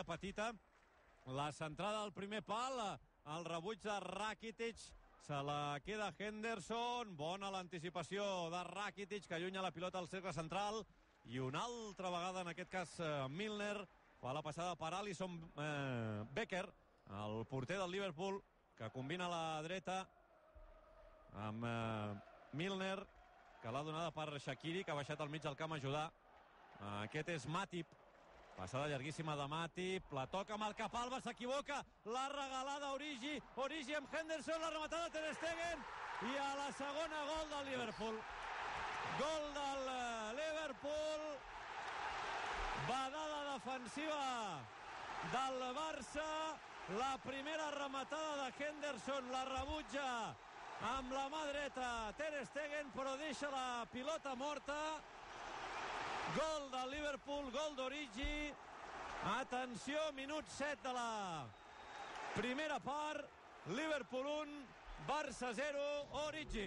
petita. La centrada al primer pal, el rebuig de Rakitic, se la queda Henderson, bona l'anticipació de Rakitic, que allunya la pilota al cercle central, i una altra vegada, en aquest cas, Milner fa la passada per Alisson Becker, el porter del Liverpool, que combina la dreta amb Milner, que l'ha donada per Shaqiri, que ha baixat al mig del camp a ajudar. Aquest és Matip. Passada llarguíssima de Matip, la toca amb el Capalba, s'equivoca, la regalada Origi, Origi amb Henderson, la rematada Ter Stegen, i a la segona gol del Liverpool. Gol del Liverpool, badada defensiva del Barça, la primera rematada de Henderson, la rebutja amb la mà dreta Ter Stegen, però deixa la pilota morta. Gol del Liverpool, gol d'Origi. Atenció, minut 7 de la primera part. Liverpool 1, Barça 0, Origi.